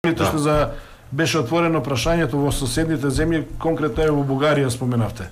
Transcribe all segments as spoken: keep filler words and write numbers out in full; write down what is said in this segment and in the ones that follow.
што за беше отворено прашањето во соседните земји, конкретно е во Бугарија споменавте.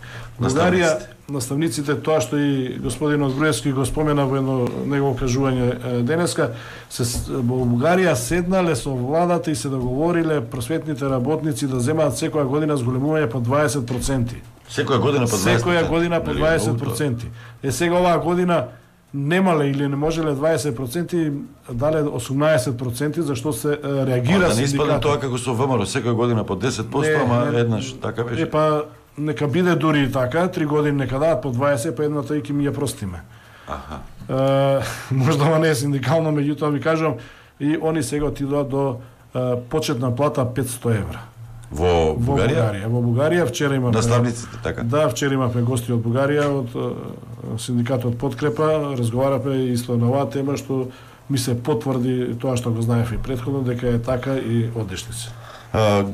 Бугарија, наставниците, тоа што и господин Груевски го спомена во едно негово кажување денеска, се во Бугарија седнале со владата и се договориле просветните работници да земаат секоја година зголемување по дваесет проценти. Секоја година по дваесет проценти. Секоја година по дваесет проценти. Е сега оваа година немале или не можеле дваесет проценти, дале осумнаесет проценти, зашто се реагира синдикатот. Да не испадне тоа како со ВМРО, секоја година по десет проценти, ама еднаш така беше. Е па нека биде дури и така, три години нека дадат по дваесет, па едната и ќе ми ја простиме. Аха. Е, можда ова не е синдикално, меѓутоа ви кажувам, и они сега отидоа до е, почетна плата петсто евра. Во Бугарија? Во Бугарија. Во Бугарија вчера имавме наставниците така. Да, вчера имавме гости од Бугарија, од синдикатот Подкрепа, разговараме исто на оваа тема што ми се потврди тоа што го знаев и претходно дека е така и одешници. А,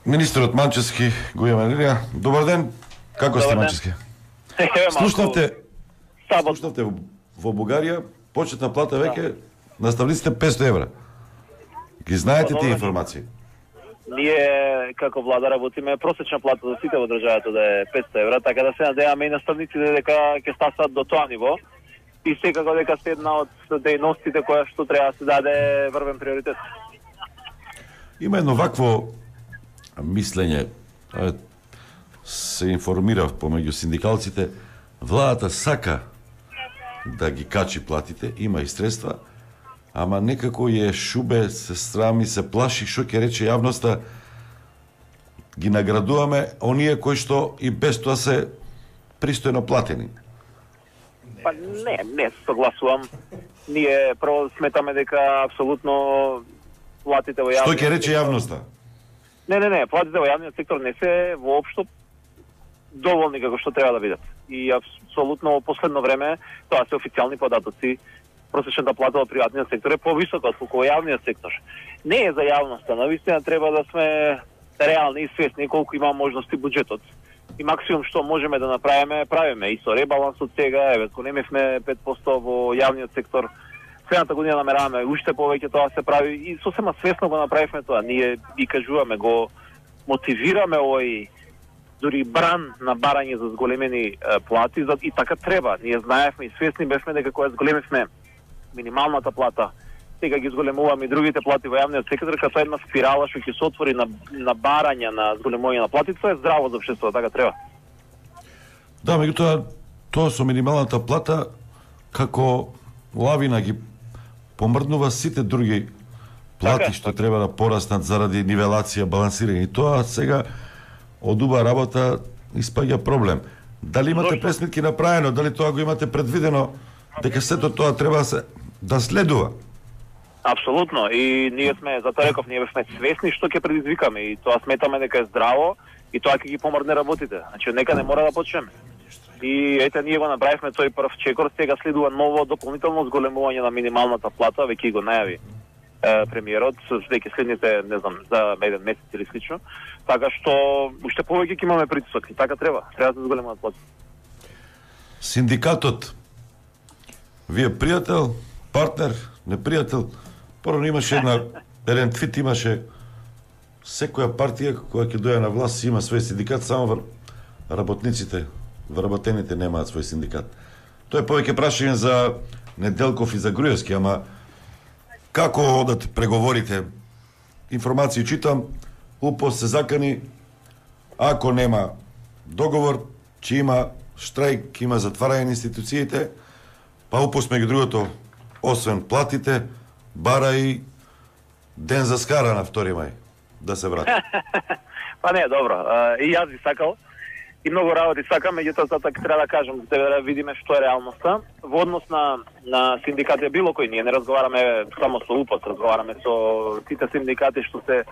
министерот Манчевски го има Лилија. Добар ден. Како сте, Манчевски? Слушнавте Слушнавте во Бугарија почетна плата веќе наставниците петсто евра. Ги знаете тие информации? Ние како влада работиме просечна плата за сите во државата да е петсто евра, така да се надеваме и наставниците дека ќе стасат до тоа ниво и секако дека се една од дејностите која што треба да се даде врвен приоритет. Има едно вакво мислење, се информирав помеѓу синдикалците, владата сака да ги качи платите, има и средства, ама некако е шубе, се срами, се плаши, што ќе рече јавноста, ги наградуваме оние кои што и без тоа се пристојно платени. Па не, не согласувам. Ние прво сметаме дека апсолутно платите во јавниот Што ќе рече јавноста? Не, не, не, платите во јавниот сектор не се воопшто доволни како што треба да бидат. И апсолутно во последно време тоа се официјални податоци. Просечната плата во приватниот сектор е повисока од во јавниот сектор. Не е за јавноста, навистина треба да сме реални и свесни колку има можности буџетот. И максимум што можеме да направиме, правиме. И со ребалансот сега, еве, ако немевме пет проценти во јавниот сектор, следната година намераваме уште повеќе тоа се прави и сосема свесно го направивме тоа. Ние ги кажуваме, го мотивираме овој дури бран на барање за зголемени е, плати и така треба. Ние знаевме и свесни бевме дека кога зголемивме минималната плата, сега ги зголемуваме и другите плати во јавниот сектор, като една спирала што ќе се отвори на, на барање на зголемување на плати, тоа е здраво за општеството, така треба. Да, меѓутоа, тоа со минималната плата, како лавина ги помрднува сите други плати така што треба да пораснат заради нивелација, балансирање. И тоа сега од убава работа испаѓа проблем. Дали имате пресметки направено, дали тоа го имате предвидено, дека сето тоа треба да се да следува? Апсолутно. И ние сме, затоа реков, ние сме свесни што ќе предизвикаме и тоа сметаме дека е здраво и тоа ќе ги помрдне работите. Значи, нека не мора да почнеме. И ете, ние го направивме тој прв чекор, сега следува ново дополнително зголемување на минималната плата, веќе го најави е, премиерот, дека следните, не знам, за еден месец или слично. Така што уште повеќе ќе имаме притисок и така треба. Треба да се зголемуваат плати. Синдикатот, вие пријател, партнер, непријател? Порано имаше една, еден твит имаше, секоја партија која ќе дојде на власт има свој синдикат, само вр... работниците, вработените немаат свој синдикат. Тоа е повеќе прашање за Неделков и за Груевски, ама како одат преговорите? Информации читам, УПОС се закани, ако нема договор, че има штрајк, има затварање на институциите, па УПОС меѓу другото, освен платите, бара и ден за скара на втори мај, да се врати. Па не, добро. И јас би сакал, и многу работи сакам, меѓутоа затоа треба да кажам, да видиме што е реалноста. Во однос на, на синдикати било кој, ние не разговараме само со УПОС, разговараме со сите синдикати што се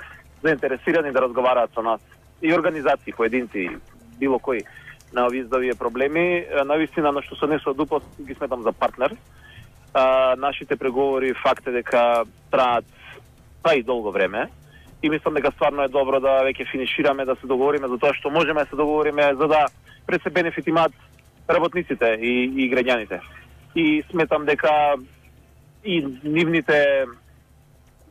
заинтересирани да разговараат со нас. И организации, поединци, било кој на овие здравие проблеми. Навистина, на што се однесува од УПОС, ги сметам за партнер. А, нашите преговори факт е дека траат па и долго време и мислам дека стварно е добро да веќе финишираме, да се договориме за тоа што можеме да се договориме за да пред се бенефит имаат работниците и, и граѓаните. И сметам дека и нивните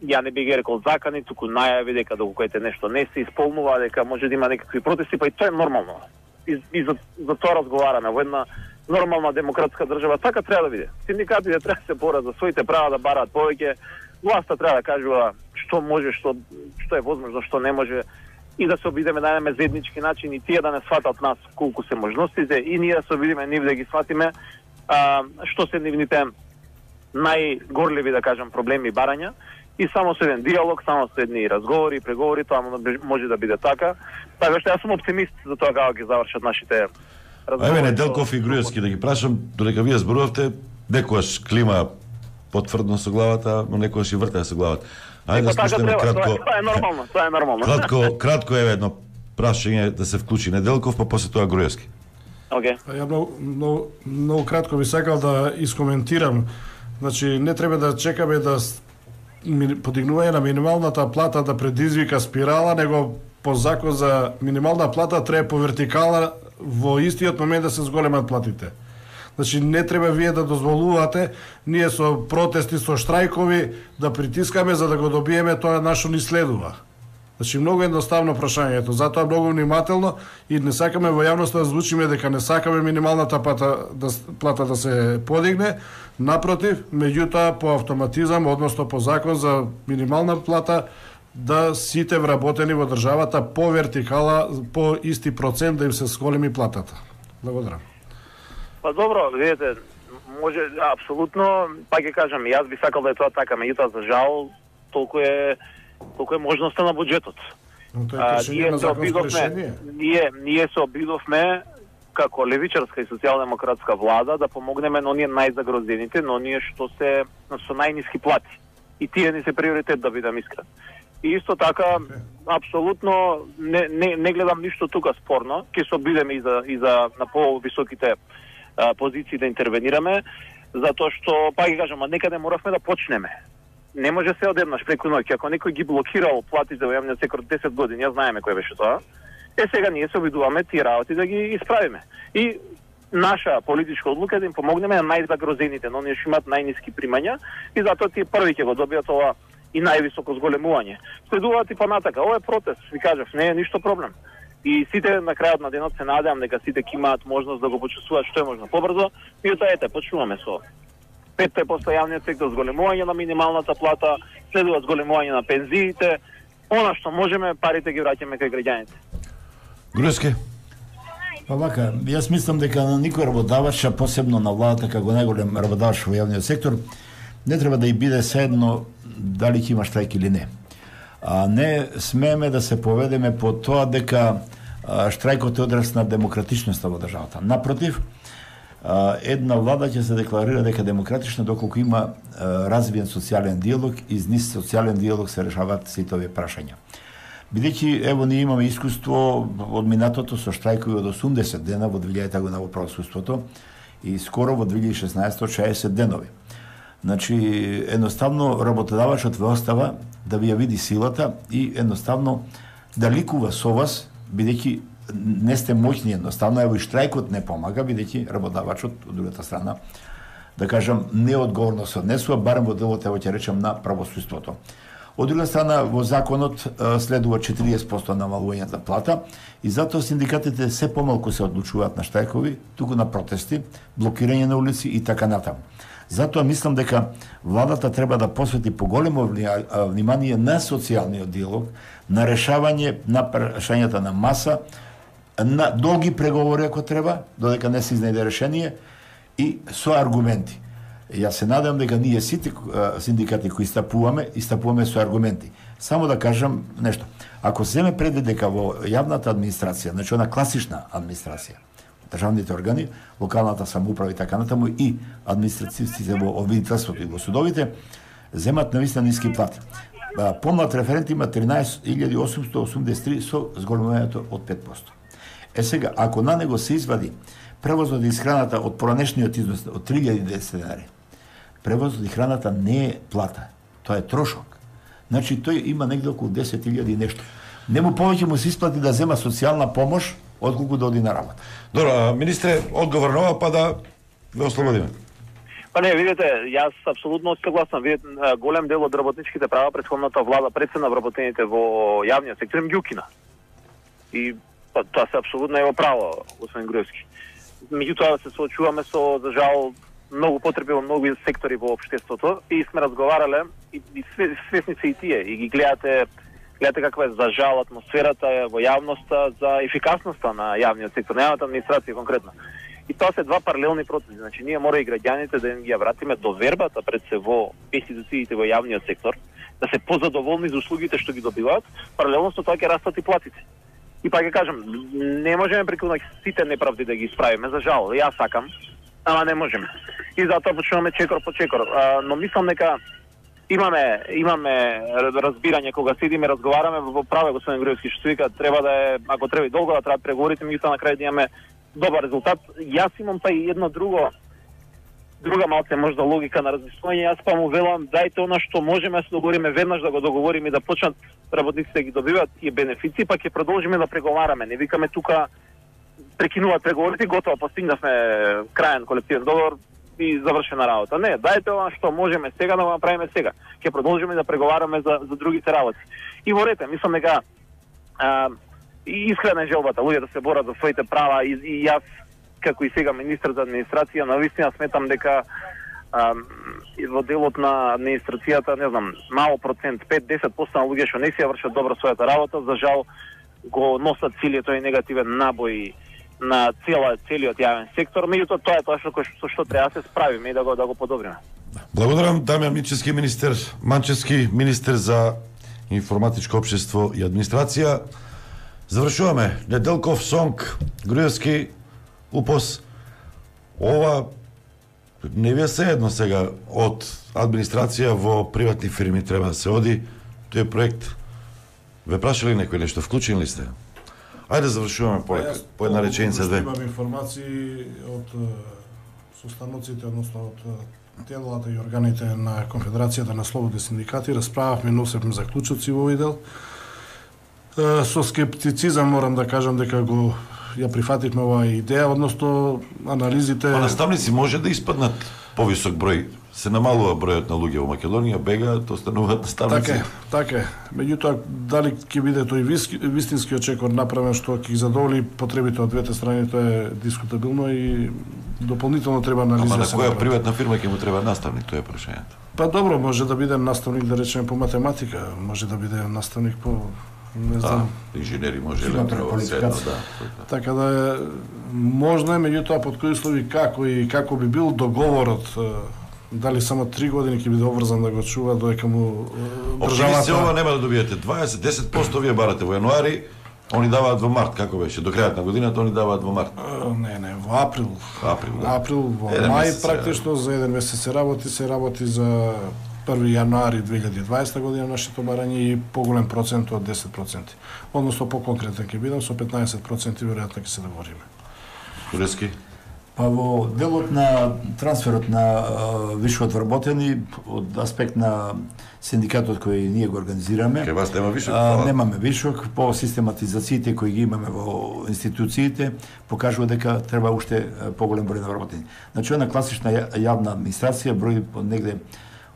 ја не би ги рекол закани, туку најави дека доколку нешто не се исполнува, дека може да има некакви протести, па и тоа е нормално. И, и за, за тоа разговараме во една нормална демократска држава, така треба да биде. Синдикатите треба да се борат за своите права, да бараат повеќе, власта треба да кажува што може, што што е возможно, што не може, и да се обидеме да најдеме заеднички начин и тие да не сватат нас колку се можностите, и ние да се обидеме нив да ги сватиме а, што се нивните најгорливи, да кажам, проблеми и барања, и само со еден диалог, само со едни разговори, преговори, тоа може да биде така. Така што јас сум оптимист за тоа како ќе завршат нашите разговори. Еве Неделков и Груевски да ги прашам, додека вие зборувавте, некојаш клима потврдно со главата, но некојаш и вртае со главата. Ајде да спуштиме кратко. Тоа е нормално, тоа е нормално. Кратко, кратко еве едно прашање да се вклучи Неделков, па после тоа Груевски. Океј. Okay. Ја многу, многу, многу кратко би сакал да искоментирам. Значи не треба да чекаме да подигнување на минималната плата да предизвика спирала, него по закон за минимална плата треба по вертикала во истиот момент да се зголемат платите. Значи не треба вие да дозволувате ние со протести, со штрајкови да притискаме за да го добиеме тоа нашо ни следува. Значи многу едноставно прашањето, затоа многу внимателно и не сакаме во јавноста да звучиме дека не сакаме минималната плата да, плата да се подигне, напротив, меѓутоа по автоматизам, односно по закон за минимална плата, да сите вработени во државата по вертикала, по исти процент да им се зголеми платата. Благодарам. Па добро, видите, може апсолутно, па ќе кажам, јас би сакал да е тоа така, меѓутоа за жал толку е толку е можноста на буџетот. А, ние се обидовме, ние ние се обидовме како левичарска и социјалдемократска влада да помогнеме на оние најзагрозените, на оние што се со најниски плати. И тие ни се приоритет, да бидам искрен. И исто така, okay. апсолутно не, не, не гледам ништо тука спорно, ќе се обидеме и за, и за на повисоките а, позиции да интервенираме, затоа што, па ги кажам, некаде моравме да почнеме. Не може се одеднаш преку ноќ. Ако некој ги блокирал платите во јавниот сектор десет години, ја знаеме кој беше тоа, е сега ние се обидуваме тие работи да ги исправиме. И наша политичка одлука е да им помогнеме на најзагрозените, но оние што имаат најниски примања, и затоа тие први ќе го добијат ова и највисоко зголемување. Следуваат и понатака. Ова е протест, ви кажав, не е ништо проблем. И сите на крајот на денот се надевам дека сите ќе имаат можност да го почувствуваат што е можно побрзо, и тоа ете, почнуваме со петте после јавниот сектор, зголемување на минималната плата, следува зголемување на пензиите, она што можеме, парите ги враќаме кај граѓаните. Груевски. Па вака, јас мислам дека на никој работодавач, а посебно на владата како најголем работодавач во јавниот сектор, не треба да и биде седно дали ќе има штрајк или не. А не смееме да се поведеме по тоа дека штрајкот е одраз на демократичноста во државата. Напротив, една влада ќе се декларира дека демократична доколку има развиен социјален диалог и низ социјален диалог се решаваат сите овие прашања. Бидејќи ево ние имаме искуство од минатото со штрајкови од осумдесет дена во две илјадета година во правосудството и скоро во две илјади и шеснаесета шеесет денови. Значи едноставно работодавачот ве остава да ви ја види силата и едноставно да ликува со вас, бидејќи не сте моќни, едноставно ево и штрајкот не помага, бидејќи работодавачот од другата страна, да кажам, неодговорно се однесува, барем во делот, ево ќе речем, на правосудството. Од друга страна, во законот следува четириесет проценти намалување на плата и затоа синдикатите се помалку се одлучуваат на штрајкови, туку на протести, блокирање на улици и така натаму. Затоа мислам дека владата треба да посвети поголемо внимание на социјалниот диалог, на решавање на прашањата на маса, на долги преговори ако треба, додека не се изнајде решение и со аргументи. Јас се надевам дека ние сите синдикати кои истапуваме, истапуваме со аргументи. Само да кажам нешто. Ако се земе предвид дека во јавната администрација, значи она класична администрација, државните органи, локалната самоуправа и така натаму и административците во обвинителството и во судовите земат навистина ниски плати. Помлад референт има тринаесет илјади осумстотини осумдесет и три со зголемувањето од пет проценти. Е сега, ако на него се извади превозот и храната од поранешниот износ од три илјади и десет денари, превозот и храната не е плата, тоа е трошок. Значи тој има негде околу десет илјади нешто. Нему повеќе му се исплати да зема социјална помош отколку да оди на работа. Добро, министре, одговор на ова, па да ве ослободиме. Па не, видите, јас апсолутно согласам. Видите, голем дел од работничките права претходната влада прецена вработените во јавниот сектор им ги укина. И па, тоа се апсолутно е во право, господин Груевски. Меѓутоа се соочуваме со, за жал, многу потреби во многу сектори во општеството и сме разговарале и, и свесни се и тие и ги гледате гледате каква е за жал атмосферата во јавноста за ефикасноста на јавниот сектор, на јавната администрација конкретно. И тоа се два паралелни процеси. Значи ние мора и граѓаните да им ги ја вратиме довербата пред се во институциите во јавниот сектор, да се позадоволни за услугите што ги добиваат, паралелно со тоа ќе растат и платите. И пак ќе кажам, не можеме преку сите неправди да ги исправиме, за жал. Јас сакам, ама не можеме. И затоа почнуваме чекор по чекор. А, но мислам дека имаме имаме разбирање кога седиме, разговараме во праве господин Груевски што вика треба да е, ако треба и долго да траат преговорите, меѓутоа на крај да имаме добар резултат. Јас имам па и едно друго друга малце можда логика на размислување. Јас па му велам дајте она што можеме да се договориме веднаш, да го договориме и да почнат работниците да ги добиваат тие бенефиции, па ќе продолжиме да преговараме. Не викаме тука прекинуваат преговорите, готово постигнавме краен колективен договор и завршена работа. Не, дајте она што можеме сега да го направиме сега. Ќе продолжиме да преговараме за за другите работи. И во рете, мислам дека а, и искрена желбата луѓе да се борат за своите права и, и јас како и сега министр за администрација навистина сметам дека а, во делот на администрацијата, не знам, мал процент, пет до десет проценти на луѓе што не си ја вршат добро својата работа, за жал го носат целиот тој негативен набој на цела целиот јавен сектор, меѓутоа тоа е тоа што со што треба да се справиме и да го да го подобриме. Благодарам Дамјан Мичевски, министер Манчевски, министер за информатичко општество и администрација. Завршуваме. Неделков, Сонг, Груевски, УПОС. Ова не ви е седно сега од администрација во приватни фирми треба да се оди. Тој проект ве прашали некој нешто, вклучени ли сте? Ајде завршуваме по, по една реченица две. Имам информации од состаноците, односно од телата и органите на Конфедерацијата на слободни синдикати. Расправавме, носевме заклучоци во овој дел. Со скептицизам морам да кажам дека го ја прифативме оваа идеја, односно анализите... Па наставници може да испаднат повисок број. Се намалува бројот на луѓе во Македонија, бегаат, остануваат наставници. Така е, така е. Меѓутоа, дали ќе биде тој вистинскиот чекор направен што ќе ги задоволи потребите од двете страни, тоа е дискутабилно и дополнително треба анализа. Ама на која приватна фирма ќе му треба наставник, тоа е прашањето. Па добро, може да биде наставник, да речеме, по математика, може да биде наставник по не знам, да, инженери може електрополитика, да. Така да е, можно е, меѓутоа под кои услови, како и како би бил договорот, дали само три години ќе биде обврзан да го чува додека му државата. Оптимисти ова нема да добиете дваесет до десет проценти вие барате во јануари, они даваат во март, како беше? До крајот на годината они даваат во март. Не, не, во април. Април, да. Април, во мај практично за еден месец се работи, се работи за први јануари две илјади и дваесета година нашето барање и поголем процент од десет проценти. Односно по-конкретен ќе бидам, со петнаесет проценти веројатно ќе се договориме. Груевски? Па во делот на трансферот на uh, вишокот вработени од аспект на синдикатот кој ние го организираме. Кај вас нема вишок? Uh, немаме вишок, по систематизациите кои ги имаме во институциите покажува дека треба уште поголем број на вработени. Значи една класична јавна администрација брои негде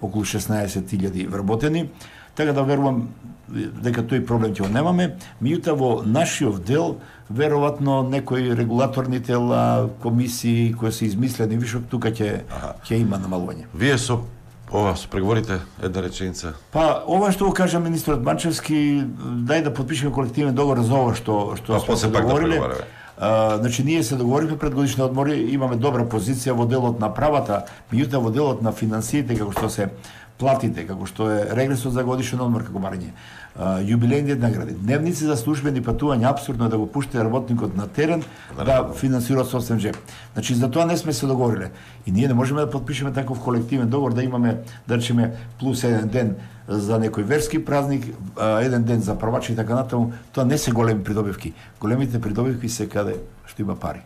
околу шеснаесет илјади вработени, така да верувам дека тој проблем ќе го немаме. Меѓутоа во нашиот дел веројатно некои регулаторни тела, комисии кои се измислени вишок тука ќе ќе има намалување. Вие со ова со преговорите една реченица. Па ова што го кажа министерот Манчевски, дај да потпишеме колективен договор за ова што што сме се договориле. Uh, значи ние се договоривме пред годишни одмори, имаме добра позиција во делот на правата, меѓутоа во делот на финансиите, како што се платите, како што е регресот за годишен одмор како барање, uh, јубилејните награди, дневници за службени патувања, апсурдно е да го пуште работникот на терен да, да финансира собствен джеб. Значи за тоа не сме се договориле. И ние не можеме да подпишеме таков колективен договор да имаме, да речеме, плюс еден ден за некој верски празник, еден ден за првачи и така натаму. Тоа не се големи придобивки. Големите придобивки се каде што има пари.